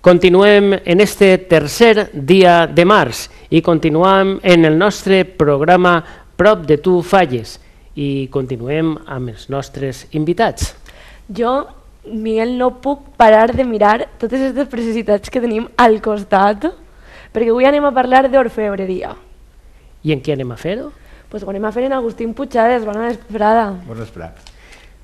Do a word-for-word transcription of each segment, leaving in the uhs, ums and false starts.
Continuem en este tercer dia de març i continuem en el nostre programa Prop de tu falles i continuem amb els nostres invitats. Jo, Miguel, no puc parar de mirar totes aquestes preciositats que tenim al costat, perquè avui anem a parlar d'orfebreria. I en què anem a fer-ho? Doncs ho anem a fer en Agustín Puigades. Bona vesprada. Bona vesprada.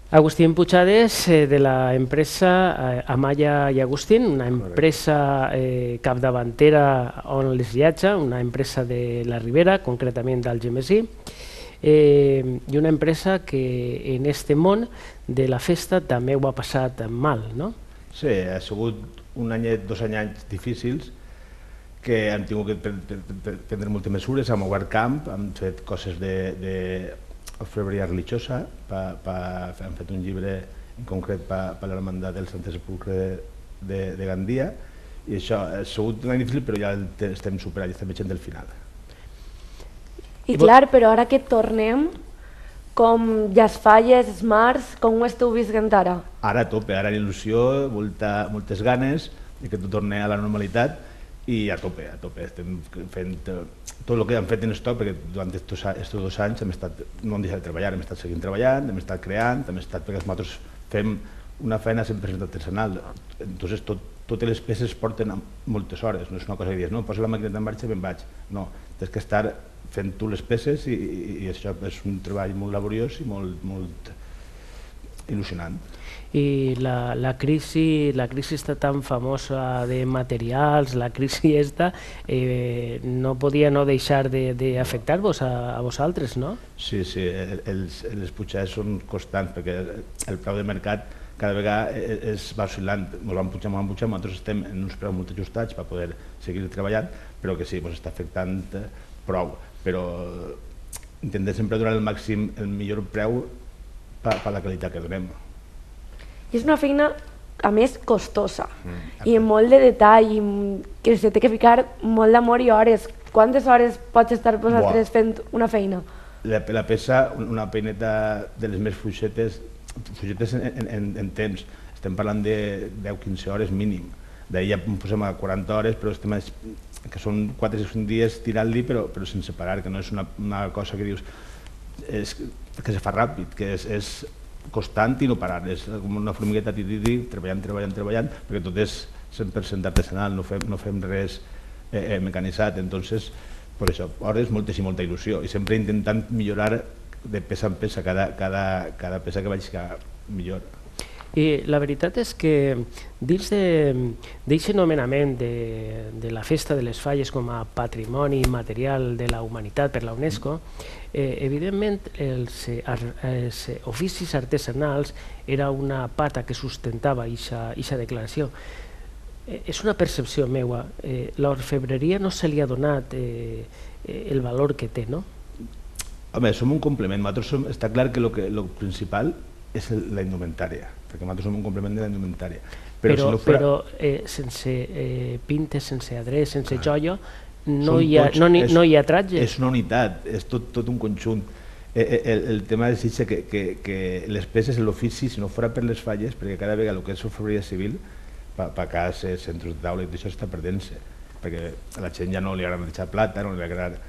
Agustín Puigades, eh, de la empresa eh, Amaya i Agustín, una empresa eh, capdavantera on les viatja, una empresa de la Ribera, concretament d'Algemesí, eh, i una empresa que en este món de la festa també ho ha passat mal, no? Sí, ha sigut un anyet, dos anys difícils que hem tingut que prendre moltes mesures, hem obert camp, hem fet coses de, de orfebreria religiosa, pa, pa, hem fet un llibre en concret per pa l'Hermandat del Sant Sepulcre de, de, de Gandia, i això ha sigut un any difícil, però ja el estem superant, ja estem veient del final. I clar, però ara que tornem, com ja es falles, es març, com ho esteu visquent ara? Ara a tope, ara il·lusió, molta, moltes ganes de que tot torni a la normalitat i a tope, a tope. Estem fent tot el que hem fet en estoc, perquè durant aquests dos anys hem estat, no hem deixat de treballar, hem estat seguint treballant, hem estat creant, hem estat, perquè nosaltres fem una feina cent per cent artesanal, entonces tot, totes les peces porten moltes hores, no és una cosa que dius, no, poso la maquineta en marxa i me'n vaig, no, tens que estar fent tu les peces i, i, i això és un treball molt laboriós i molt, molt il·lusionant. I la, la, crisi, la crisi està tan famosa de materials, la crisi esta, eh, no podia no deixar d'afectar-vos a, a vosaltres, no? Sí, sí, els, les pujades són constants perquè el preu de mercat cada vegada es va oscil·lant, ens van pujar, ens van pujar, nosaltres estem en uns preus molt ajustats per poder seguir treballant, però que sí, ens està afectant prou, però intentem sempre donar el màxim, el millor preu per, per la qualitat que donem. I és una feina, a més, costosa mm, i molt de detall, i que se té que ficar molt d'amor i hores. Quantes hores pots estar vosaltres fent una feina? La, la peça, una peineta de les més fluixetes, fluixetes en, en, en temps, estem parlant de deu a quinze hores mínim. D'ahir ja posem a quaranta hores, però estem a, que són quatre o cinc dies tirant-li, però, però sense parar, que no és una, una cosa que dius és, que se fa ràpid, que és, és constant i no parar, és com una formigueta tititi, treballant, treballant, treballant, perquè tot és cent per cent artesanal, no fem, no fem res eh, eh, mecanitzat, entonces, per això, hores, moltes i molta il·lusió, i sempre intentant millorar de peça en peça, cada, cada, cada peça que vaig millor. I la veritat és que dins d'aquest nomenament de, de la Festa de les Falles com a Patrimoni Material de la Humanitat per la UNESCO, eh, evidentment els, els oficis artesanals era una pata que sustentava aquesta declaració. Eh, és una percepció meua, eh, l'orfebreria no se li ha donat eh, el valor que té, no? Home, som un complement, nosaltres som, està clar que el principal és la indumentària, perquè nosaltres som un complement de la indumentària. Però, però, si no fora... però eh, sense eh, pintes, sense adrés, sense joia, no, hi ha, no, no hi ha tratge. És una unitat, és tot, tot un conjunt. Eh, el, el tema és que, que, que les peces, l'ofici, si no fora per les falles, perquè cada vegada el que és orfebreria civil, per pa cases, centres de taula, això està perdent-se, perquè a la gent ja no li agrada deixar plata, no li agrada...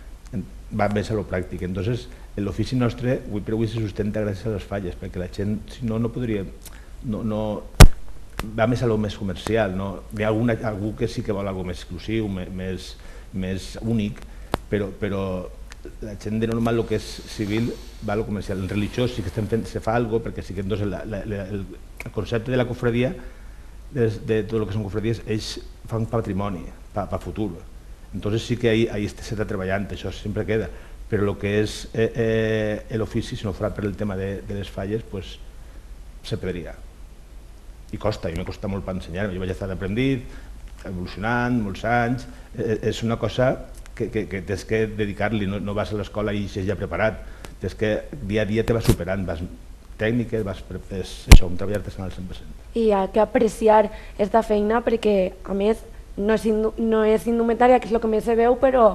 va més a lo pràctic. Entonces, l'ofici nostre avui per avui se sustenta gràcies a les falles, perquè la gent, si no, no podria... No, no, va més a lo més comercial, no? Hi ha alguna, algú que sí que vol alguna més exclusiu, més, més únic, però, però la gent de normal, el que és civil, va a lo comercial. El religiós sí que estem fent, se fa alguna cosa, perquè sí que entonces la, la, la, el, el concepte de la cofredia, de, de tot el que són cofredies, ells fan patrimoni, per pa futur. Entonces sí que ahí, ahí s'està treballant, això sempre queda, però el que és eh, eh, l'ofici, si no fora per el tema de, de les falles, pues, se perdria. I costa, i m'ha costat molt per ensenyar-me, jo vaig estar aprendit, evolucionant, molts anys, eh, és una cosa que, que, que tens que dedicar-li, no, no vas a l'escola i eixes ja preparat, tens que dia a dia te vas superant, vas tècniques, vas, és això, un treball artesanal cent per cent. I hi ha que apreciar aquesta feina perquè, a més, no és, no és indumentària, que és el que més se veu, però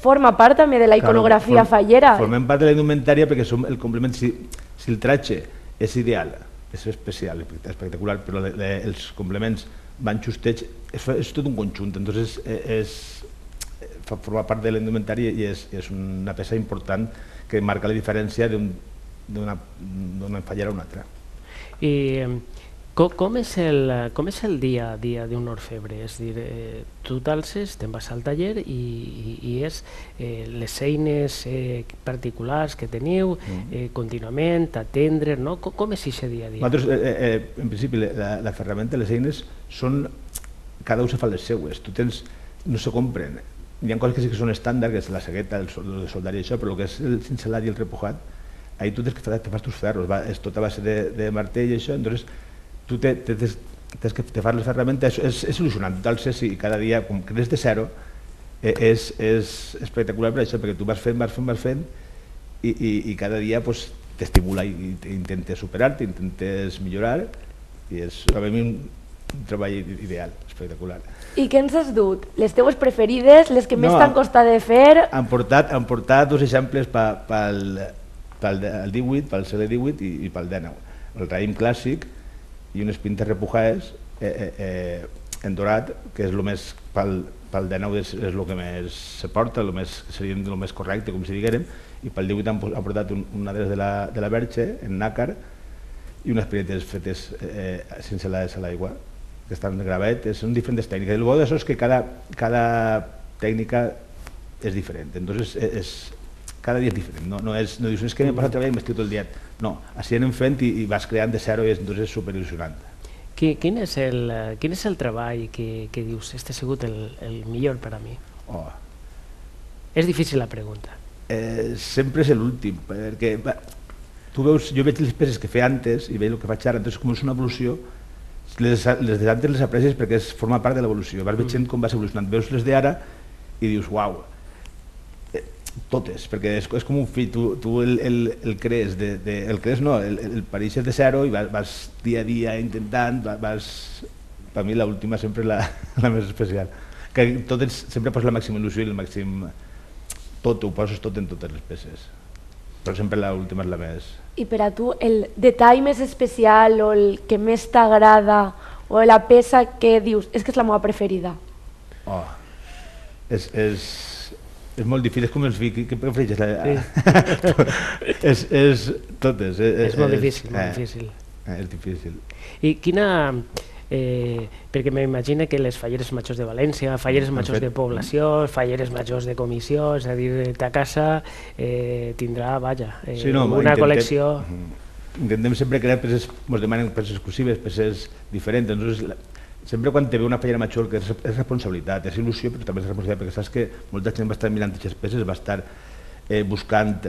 forma part també de la iconografia claro, fallera. Formem part de la indumentària perquè som el complement, si, si el tratge és ideal, és especial, espectacular, però le, le, els complements van justets, és, és tot un conjunt, entonces és, fa formar part de l'indumentari i és, és una peça important que marca la diferència d'una fallera a una altra. I com, com, és el, com és el dia a dia d'un orfebre? És dir, eh, tu t'alces, te'n vas al taller i, i, i és eh, les eines eh, particulars que teniu eh, contínuament, atendre, no? Com, com és aquest dia a dia? Nosaltres, eh, eh, en principi, la, la ferramenta, les eines, són, cada un se fa les seues, tu tens, no se compren. Hi ha coses que sí que són estàndard, que és la segueta, el, el soldar i això, però el que és el cincelat i el repujat, ahí tu tens que fer, te fas tus ferros, va, és tot a base de, de martell i això, entonces tu te, te, te, tens que te fas les ferramentes, és, és il·lusionant, tu t'alces i cada dia, com que des de zero, eh, és, és espectacular per això, perquè tu vas fent, vas fent, vas fent, i, i, i cada dia pues, t'estimula i, i intentes superar-te, intentes millorar, i és a mi un, un treball ideal, espectacular. I què ens has dut? Les teues preferides, les que no, més t'han costat de fer? Han portat, han portat dos exemples pel, pel divuit, pel segle divuit i, i pel dinou. El raïm clàssic i unes pintes repujades eh, eh, eh, en dorat, que és el més, pel, pel dinou és, és el que més se porta, el més, seria el més correcte, com si diguérem, i pel divuit han, han portat un, una de la, de la Verge, en nàcar, i unes pinetes fetes eh, sense les a l'aigua, que estan de gravet, són diferents tècniques. El bo d'això és que cada, cada tècnica és diferent, entonces és, cada dia és diferent, no, no, és, no dius, és que m'he passat treballant i m'estic tot el dia. No, així anem fent i, i vas creant de zero i és, és superil·lusionant. Quin és el, quin és el treball que, que dius, este ha sigut el, el millor per a mi? Oh. És difícil la pregunta. Eh, sempre és l'últim, perquè va, tu veus, jo veig les peces que feia antes i veig el que faig ara, entonces com és una evolució, les, les d'antes les aprecies perquè es forma part de l'evolució, vas veient com vas evolucionant, veus les d'ara i dius, uau, totes, perquè és, és com un fill, tu, tu el, el, el crees, de, de, el crees no, el, el pareixes de zero i vas, vas dia a dia intentant, vas, per mi l'última sempre és la, la més especial, que totes, sempre poses la màxima il·lusió i el màxim, tot, ho poses tot en totes les peces, però sempre l'última és la més... I per a tu, el detall més especial o el que més t'agrada o la peça que dius, és que és la meva preferida? Oh, és... és és molt difícil, és com els vi, què prefereixes? Sí. és, és totes. És, és molt difícil, molt eh, difícil. Eh, és difícil. I quina... Eh, perquè m'imagino que les falleres majors de València, falleres majors de població, falleres majors de comissió, és a dir, ta casa eh, tindrà, vaja, eh, sí, no, una intentem, col·lecció... Intentem sempre crear peces, ens demanen peces exclusives, peces diferents, entonces... Sempre quan te ve una fallera major, que és, és responsabilitat, és il·lusió, però també és responsabilitat, perquè saps que molta gent va estar mirant aquestes peces, va estar eh, buscant...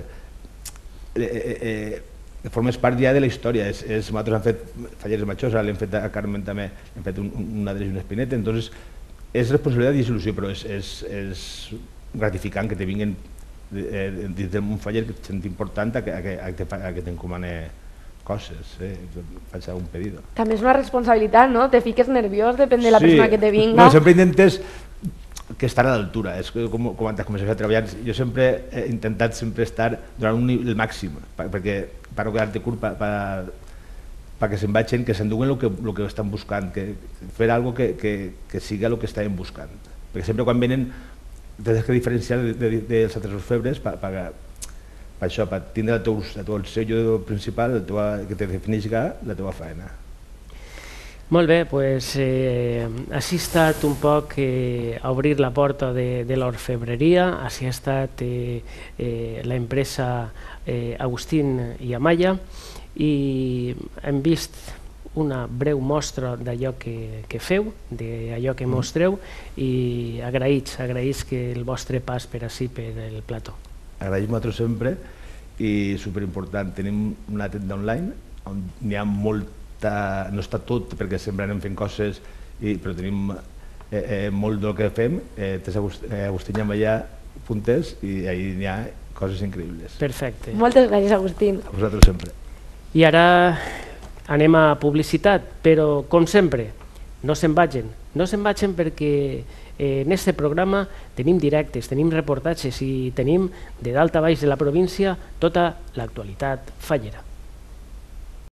Eh, eh, eh, formes part ja de la història. És, és, nosaltres hem fet falleres majors, ara l'hem fet a Carmen també, hem fet un, una de les una espineta, entonces és responsabilitat i és il·lusió, però és, és, és gratificant que te vinguin eh, dins d'un faller que et sent important a que, a que, a que t'encomane coses, eh, faig un pedido. També és una responsabilitat, no? Te fiques nerviós, depèn de la sí. persona que te vinga. No, sempre intentes que estar a l'altura, és com, com antes comences a treballar, jo sempre he intentat sempre estar durant un nivell màxim, perquè per no quedar-te curt, perquè se'n vagin, que s'enduguen el que, el que estan buscant, que fer algo que, que, que siga el que estaven buscant, perquè sempre quan venen tens que diferenciar de, de, dels altres orfebres per, per, per això, per tindre el teu, el teu sello principal, el teu, que te defineixi la teva feina. Molt bé, doncs eh, així ha estat un poc eh, a obrir la porta de, de l'orfebreria, així ha estat eh, eh, l'empresa eh, Agustín i Amaya i hem vist una breu mostra d'allò que, que feu, d'allò que mostreu i agraïts, agraïts que el vostre pas per ací per el plató. Agraïm a nosaltres sempre i superimportant, tenim una tenda online on n'hi ha molt, no està tot perquè sempre anem fent coses, i, però tenim eh, eh, molt del que fem, eh, tens Agustín Amaya Puntes i ahí n'hi ha coses increïbles. Perfecte. Moltes gràcies, Agustín. A vosaltres sempre. I ara anem a publicitat, però com sempre, no se'n vagin, no se'n vagin perquè eh, en este programa tenim directes, tenim reportatges i tenim de dalt a baix de la província tota l'actualitat fallera.